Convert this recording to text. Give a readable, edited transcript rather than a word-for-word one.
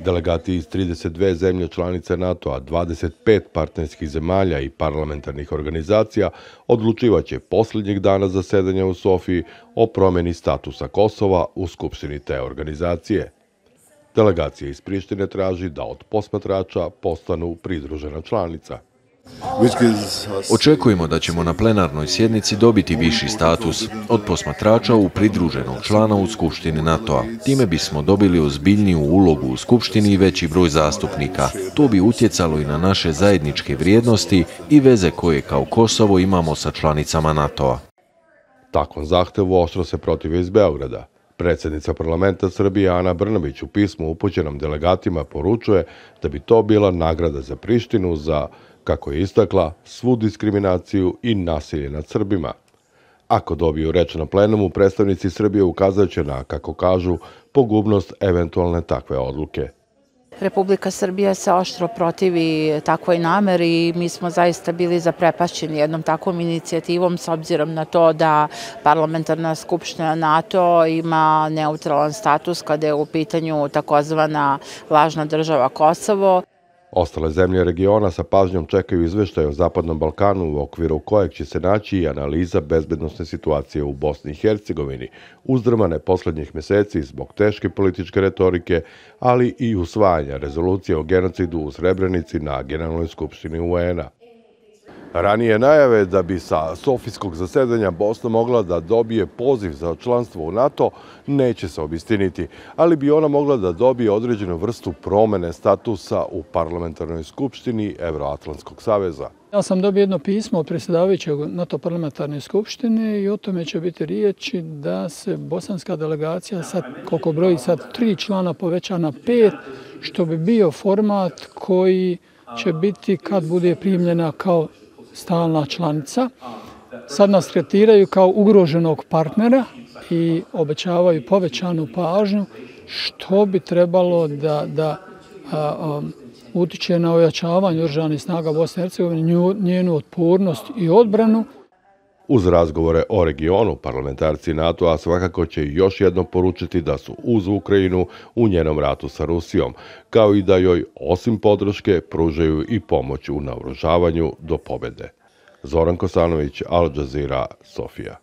Delegati iz 32 zemlje članice NATO-a, 25 partnerskih zemalja i parlamentarnih organizacija odlučivaće posljednjeg dana zasedanja u Sofiji o promjeni statusa Kosova u skupštini te organizacije. Delegacija iz Prištine traži da od posmatrača postanu pridružena članica. Očekujemo da ćemo na plenarnoj sjednici dobiti viši status od posmatrača u pridruženog člana u Skupštini NATO-a. Time bismo dobili ozbiljniju ulogu u Skupštini i veći broj zastupnika. To bi utjecalo i na naše zajedničke vrijednosti i veze koje kao Kosovo imamo sa članicama NATO-a. Takvom zahtevu oštro se protive iz Beograda. Predsjednica parlamenta Srbije Ana Brnabić u pismu upućenom delegatima poručuje da bi to bila nagrada za Prištinu za, kako je istakla, svu diskriminaciju i nasilje nad Srbima. Ako dobiju reč na plenumu, predstavnici Srbije ukazat će na, kako kažu, pogubnost eventualne takve odluke. Republika Srbija se oštro protivi takvoj nameri i mi smo zaista bili zaprepašćeni jednom takvom inicijativom s obzirom na to da Parlamentarna skupština NATO ima neutralan status kada je u pitanju takozvana lažna država Kosovo. Ostale zemlje regiona sa pažnjom čekaju izveštaj o Zapadnom Balkanu u okviru kojeg će se naći i analiza bezbednosne situacije u Bosni i Hercegovini, uzdrmane posljednjih mjeseci zbog teške političke retorike, ali i usvajanja rezolucije o genocidu u Srebrenici na Generalnoj skupštini UN-a. Ranije najave da bi sa sofijskog zasedanja Bosna mogla da dobije poziv za članstvo u NATO neće se obistiniti, ali bi ona mogla da dobije određenu vrstu promene statusa u parlamentarnoj skupštini Evroatlantskog saveza. Ja sam dobio jedno pismo od predsjedavajućeg NATO parlamentarne skupštine i o tome će biti riječi da se bosanska delegacija, sad, koliko broji sad 3 člana, poveća na 5, što bi bio format koji će biti kad bude primljena kao stalna članica. Sad nas tretiraju kao ugroženog partnera i obećavaju povećanu pažnju, što bi trebalo da utiče na ojačavanje oružanih snaga Bosne i Hercegovine, njenu otpornost i odbranu. Uz razgovore o regionu, parlamentarci NATO-a svakako će još jednom poručiti da su uz Ukrajinu u njenom ratu sa Rusijom, kao i da joj, osim podrške, pružaju i pomoć u naoružavanju do pobjede. Zoran Kosanović, Al Jazeera, Sofija.